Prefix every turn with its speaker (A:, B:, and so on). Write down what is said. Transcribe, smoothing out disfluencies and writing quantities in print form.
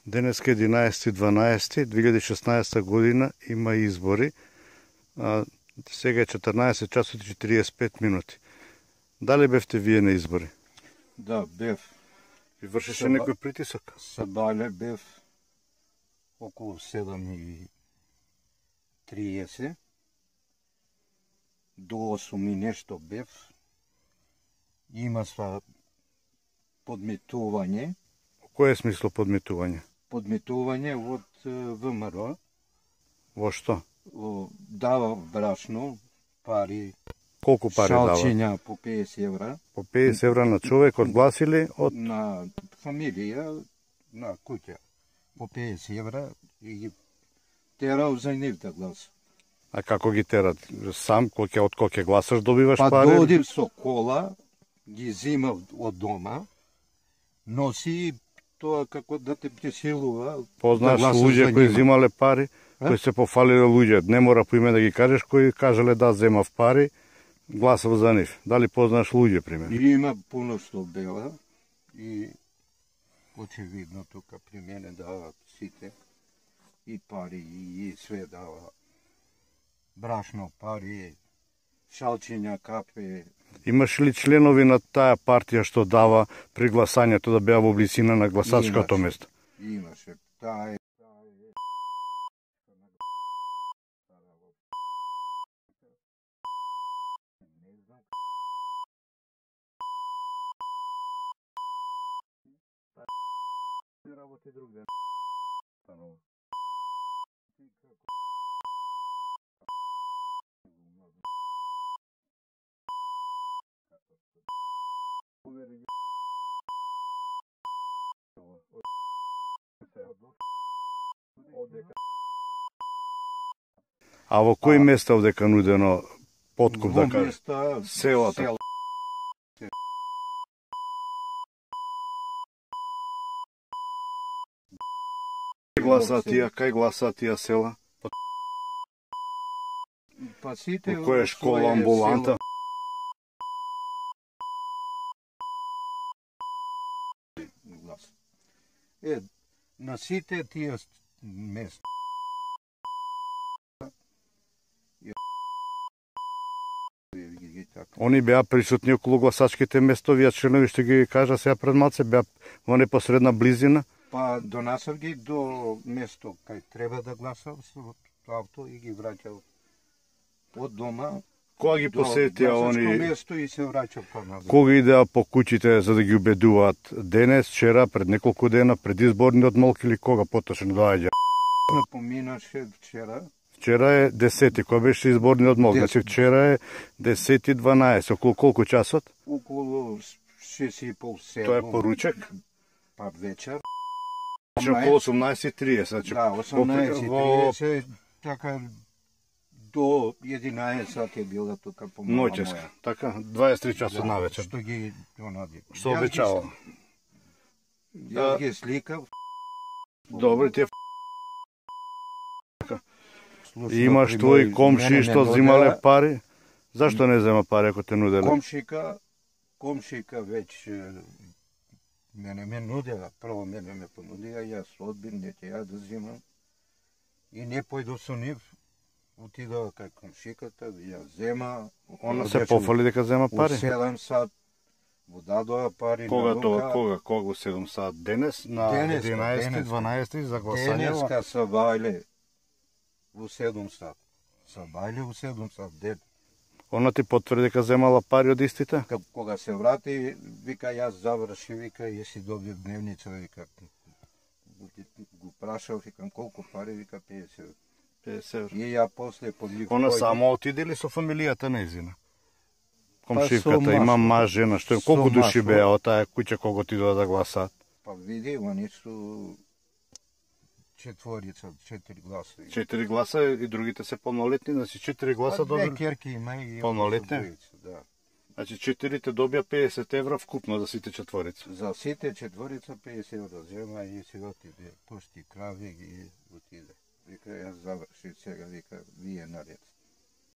A: Денеска 11.12.2016 година има избори. Сега е 14 часот и 45 минути. Дали бевте вие на избори?
B: Да, бев.
A: Ви вршеше некој притисок?
B: Сабале бев околу 7:30. До 8 и нешто бев. Има сва подметување.
A: Кој е смисло подметување?
B: Подметување од ВМРО.
A: Во што?
B: Дава брашно, пари,
A: Колку пари дава?
B: шалчиња по 50 евра.
A: По 50 евра на човек одгласили од...
B: На фамилија, на куќа. По 50 евра и ги терал за нив да гласа.
A: А како ги терат? Сам, од кој ќе гласаш, добиваш
B: Па
A: пари?
B: Па додим со кола, ги зима од дома, носи тоа како да те пресилува.
A: Познаеш
B: да
A: луѓе кои зимале пари, кои се пофалиле луѓе. Не мора по име да ги кажеш, кои кажале да земав пари, гласав за нив. Дали познаеш луѓе, пример?
B: И има пуно што бела и очевидно тука при мене дават сите и пари и све дава. Брашно, пари, шалчиња, кафе.
A: Имаш ли членови на таа партија што дава при гласањето да беа во близина на гласачкото место?
B: Имаше. Таа е работи друг ден.
A: А во кои места овдека нудено подкуп, да кажеш?
B: Селата.
A: Кај гласаат тие села?
B: Па сите
A: Во која школа, амбуланта?
B: На сите тие места.
A: Они беа присутни околу гласачките места, вие членови што ги кажа сега пред малце, беа во непосредна близина?
B: Па донасав ги до место кај треба да гласав со авто и ги враќав од дома.
A: Кога ги посетија они?
B: Место и се враќав поназад.
A: Кога идеа по куќите за да ги убедуваат? Денес, вчера, пред неколку дена, пред изборниот молк или кога поточно доаѓа?
B: Поминаше вчера.
A: Вчера е 10, кога беше изборниот молк? Значи вчера е 10:12, околу колку часот?
B: Околу 6:30-7.
A: Тоа е поручек?
B: Па вечер.
A: Значи околу 18:30. Значи,
B: да, 18:30, така до 11 сати е била тука по мала
A: ноќеска,
B: моја.
A: така, 23 часот на вечер.
B: Што ги онади.
A: Што обечава?
B: Јас ги сликав.
A: Добре, тие имаш твои комши што взимале пари? Зашто не зема пари ако те нуделе?
B: Комшика веќе мене ме нудела. Прво мене ме понудија, јас одбив, не ќе ја да взимам. И не појдов со нив. Отидова кај комшиката, ја зема.
A: Она се пофали дека зема пари?
B: У 7 сат. Во дадоа пари.
A: Кога тоа? Кога во 7 сат? Денес? На 11-12 за гласање?
B: Денеска са бајле во 7 сат. Са бајле во 7 сат ден.
A: Она ти потврди дека земала пари од истите?
B: Кога се врати, вика јас заврши, вика и си добив дневница, вика го прашав, викам колку пари, вика 50 евра.
A: 50 евра.
B: И ја после подвиг.
A: Она само отиде ли со фамилијата нејзина? Комшивката има маж, жена, што колку души беа од таа куќа кога отидоа да гласаат?
B: Па види, они су 4 гласа.
A: 4 гласа и другите се полнолетни, значи 4 гласа добили.
B: Две керки има и
A: полнолетни.
B: Да.
A: Значи 4-те добија 50 евра вкупно за сите четворица.
B: За сите четворица 50 евра зема и си отиде, пушти крави и отиде. Вика, јас заврши сега, вика, вие наред.